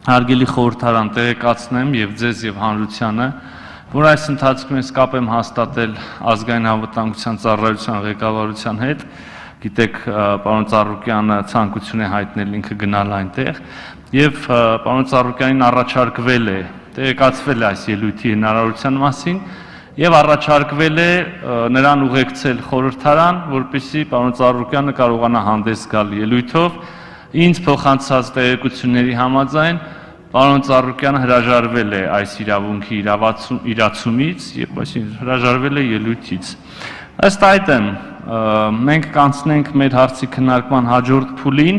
հարգելի խորհրդարան տեղեկացնեմ եւ ձեզ եւ հանրությանը, որ այս ընթացքում ես կապ եմ հաստատել ազգային անվտանգության ծառայության ղեկավարության հետ, գիտեք, պարոն Ծառուկյանը ցանկություն է հայտնել ինքը գնալ այնտեղ եւ պարոն Ծառուկյանին առաջարկվել է, տեղեկացվել է այս ելույթի հնարավորության մասին եւ առաջարկվել է նրան ուղեկցել խորհրդարան, որպեսզի պարոն Ծառուկյանը կարողանա հանդես գալ ելույթով, ինձ փոխանցած տեղեկությունների համաձայն պարոն Ծառուկյանը հրաժարվել է այս իրավունքի իրացումից եւ այսինքն հրաժարվել է ելույթից։ Ըստ այդմ մենք կանցնենք մեր հարցի քննարկման հաջորդ փուլին